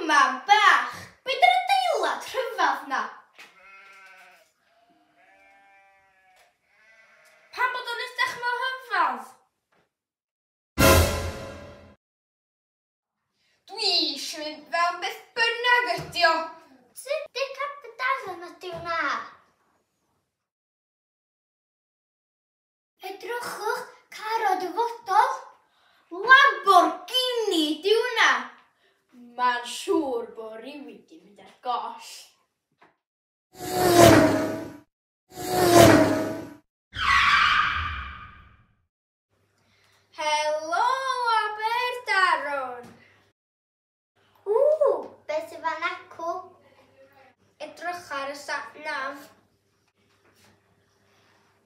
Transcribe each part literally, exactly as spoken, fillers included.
mam bach! Be 'di'r adeilad rhyfedd 'na? Pam bod o'n edrych mor rhyfedd? Dwi eisiau mynd fewn beth bynnag ydi o. Tŷ Dic Aberdaron ydi hwnna. Edrychwch, car o dyfodol. Lamborghini 'di hwnna. Mae'n siŵr bod rhywun 'di mynd ar goll. Helo Aberdaron! Ww, beth sydd fan acw? Edrych ar y sat nav.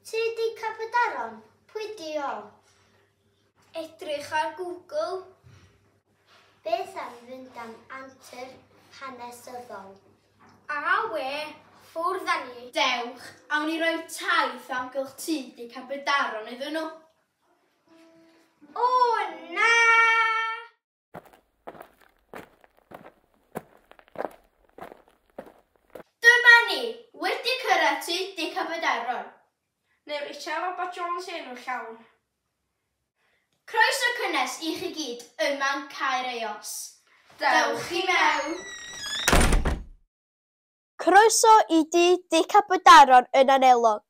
Tŷ Dic Aberdaron? Pwy 'di o? Edrych ar Google. Beth am fynd am antur hanesyddol? Awe, ffwrdd â ni. Dewch, awn ni roi taith amgylch tŷ Dic Aberdaron iddyn nhw. O na! Dyma ni, wedi cyrraedd tŷ Dic Aberdaron. Neu Richard Robert Jones enw llawn. Croeso cynnes i chi gyd yma'n Caer Eos. Dewch i mewn! Croeso i dŷ Dic Aberdaron yn Anelog.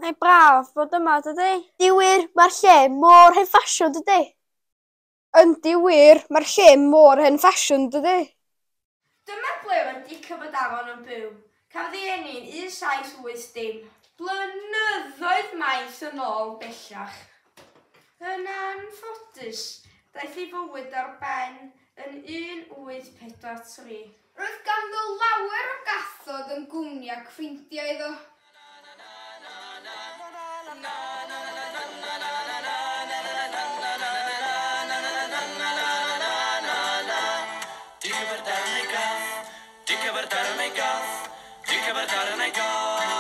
Mae'n braf bod yma, dydy? Yndi wir, mae'r lle mor hen ffasiwn, dydy? Yndi wir, mae'r lle mor hen ffasiwn, dydy? Dyma ble mae Dic Aberdaron yn byw. Cafodd ei eni'n un saith wyth dim. Blynyddoedd maith yn ôl bellach. Yn anffodus, daeth ei fywyd ar ben yn un wyth pedwar tri. Roedd ganddo lawer o gathod yn gwmni ac ffrindiau iddo. Dic Aberdaron ei gath, Dic Aberdaron ei gath, Dic Aberdaron ei gath.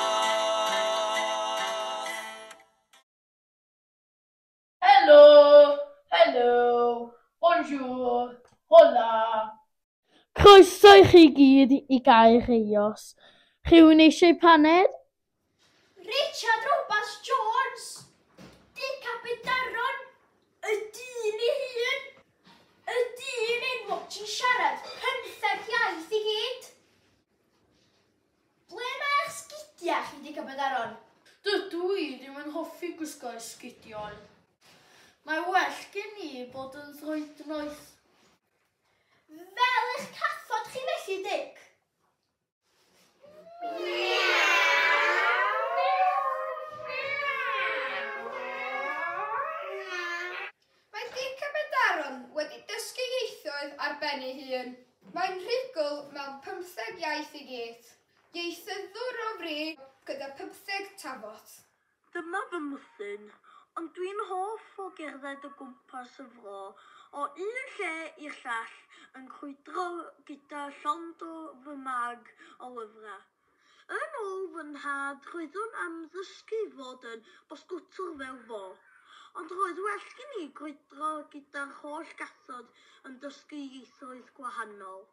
Helo, helo, bonjour, hola. Croeso i chi gyd i Gaer Eos. Rhywun eisiau paned? Richard Roberts Jones! Dic Aberdaron! Y dyn ei hun! Y dyn enwog sy'n siarad pymtheg iaith i gyd! Ble mae'ch sgidiau chi, Dic Aberdaron? Dydw i ddim yn hoffi gwisgo esgidiau. Mae well gen i bod yn droednoeth. Fel eich cathod chi felly, Dic? Mae Dic Aberdaron wedi dysgu ieithoedd ar ben ei hun. Mae'n rhugl mewn pymtheg iaith i gyd. Ieithyddwr o fri gyda pymtheg tafod. Dyma fy mwthyn, ond dwi'n hoff o gerdded o gwmpas y fro, o un lle i'r llall yn crwydro gyda llond o fy mag o lyfrau. Yn ôl fy nhad, roeddwn am ddysgu fod yn bysgotwr fel fo, ond roedd well gen i grwydro gyda'r holl gathod yn dysgu ieithoedd gwahanol.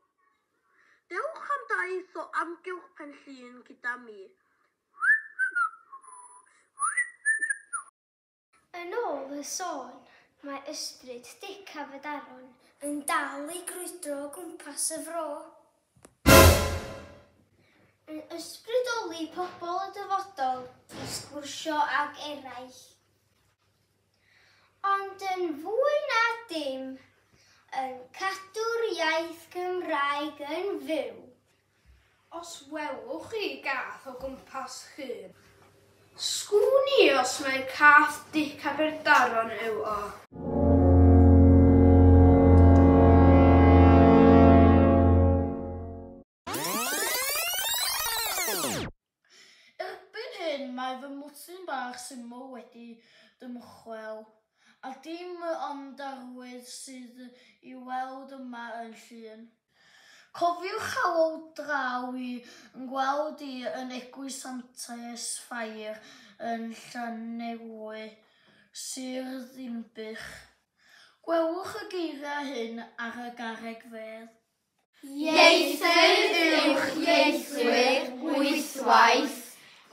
Dewch am daith o amgylch Pen Llŷn gyda mi. Yn ôl y sôn, mae ysbryd Dic Aberdaron yn dal i grwydro o gwmpas y fro. Yn ysbrydoli pobl y dyfodol i sgwrsio ag eraill. Ond yn fwy na dim, yn cadw'r iaith Gymraeg yn fyw. Os welwch chi gath o gwmpas Llŷn, sgwn i os mae cath Dic Aberdaron yw o. Erbyn hyn mae fy mwtyn bach syml wedi dymchwel, a dim ond arwydd sydd i weld yma yn Llŷn. Cofiwch alw draw i yn gweld i yn Eglwys Santes Fair yn Llanelwy, Sir Ddinbych. Gwelwch y geiriau hyn ar y garreg fedd. Ieithydd uwch ieithwyr wythwaith,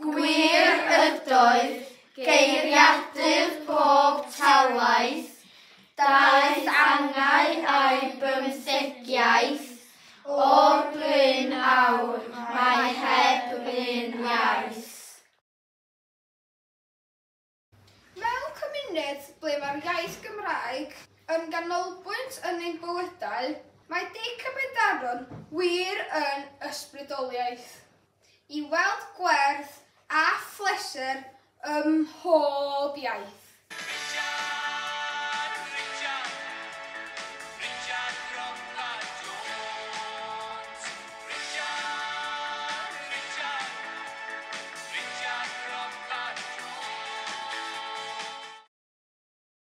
gwir ydoedd, geiriadur pob talaith, daeth angau a'i bymthegiaeth, o'r bryn awr mae heb un iaith. Mewn cymuned ble mae'r iaith Gymraeg yn ganolbwynt yn ein bywydau, mae Dic Aberdaron wir yn ysbrydoliaeth. I weld gwerth a phleser ym mhob iaith.